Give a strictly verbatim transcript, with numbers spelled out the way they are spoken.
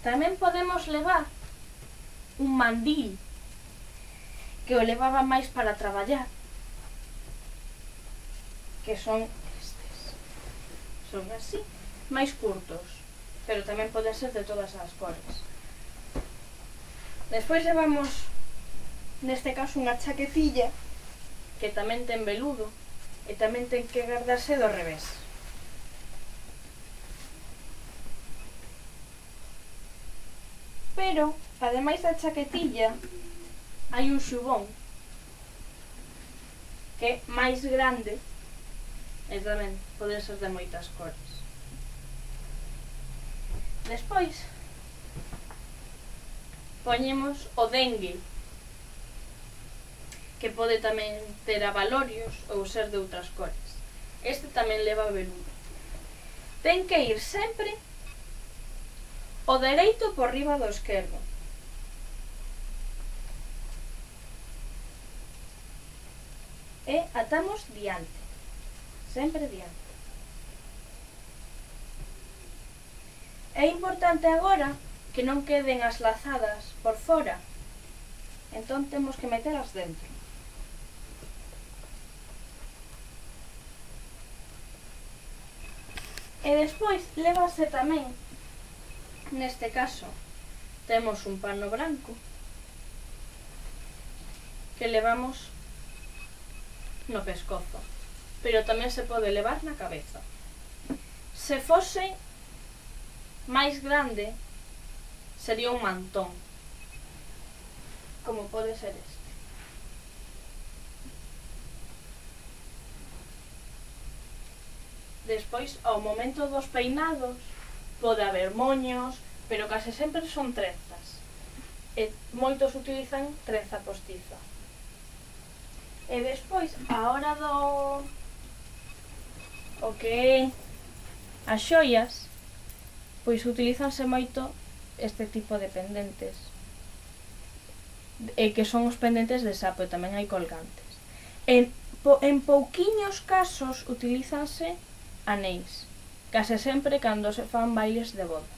Tamén podemos levar un mandil, que o levaba máis para traballar, que son estes. Son así, máis curtos, pero tamén poden ser de todas as cores. Despois levamos, neste caso, unha chaquetilla, que tamén ten veludo, e tamén ten que guardarse do revés. Pero, ademais da chaquetilla, hai un xubón que é máis grande e tamén pode ser de moitas cores. Despois poñemos o dengue, que pode tamén ter abalorios ou ser de outras cores. Este tamén leva veludo. Ten que ir sempre o dereito por riba do esquerdo. E atamos diante, sempre diante. É importante agora que non queden as lazadas por fora, entón temos que metelas dentro. E despois lévase tamén, neste caso, temos un pano branco que levamos no pescozo, pero tamén se pode levar na cabeza. Se fose máis grande, sería un mantón, como pode ser este. Despois, ao momento dos peinados, pode haber moños, pero case sempre son trenzas. E moitos utilizan trenza postiza. E despois, a hora do o que as xoias, pois utilizanse moito este tipo de pendentes, e que son os pendentes de sapo, e tamén hai colgantes. En, po, en pouquiños casos utilizanse anéis, case sempre cando se fan bailes de boda.